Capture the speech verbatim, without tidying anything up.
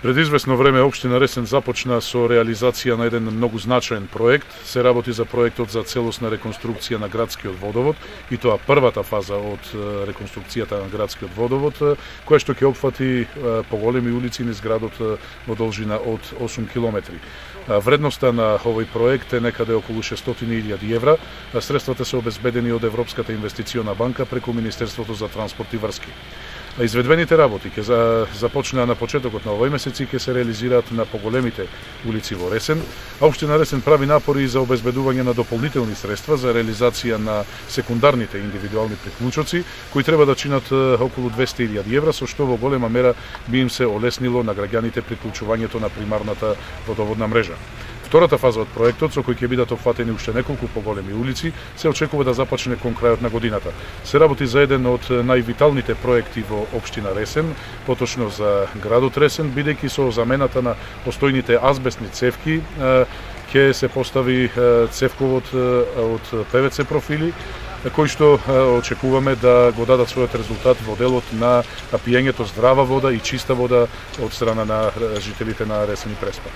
Пред известно време општина Ресен започна со реализација на еден многу значаен проект. Се работи за проектот за целосна реконструкција на градскиот водовод, и тоа првата фаза од реконструкцијата на градскиот водовод, која што ќе опфати поголеми улици низ градот во должина од осум километри. Вредноста на овој проект е некаде околу шестстотини илјади евра. Средствата се обезбедени од Европската инвестициона банка преку Министерството за транспорт и врски. Изведбените работи ќе започнаа на почетокот на овој месец и ќе се реализираат на поголемите улици во Ресен, а општина Ресен прави напори за обезбедување на дополнителни средства за реализација на секундарните индивидуални приклучоци, кои треба да чинат околу двесте илјади евра, со што во голема мера би им се олеснило на граѓаните приклучувањето на примарната водоводна мрежа. Втората фаза од проектот, со кој ќе бидат опфатени уште неколку поголеми улици, се очекува да започне кон крајот на годината. Се работи за еден од највиталните проекти во општина Ресен, поточно за градот Ресен, бидејќи со замената на постојните азбестни цевки ќе се постави цевковод од Пе Ве Це профили, кои што очекуваме да го дадат својот резултат во делот на пиењето здрава вода и чиста вода од страна на жителите на Ресен и Преспа.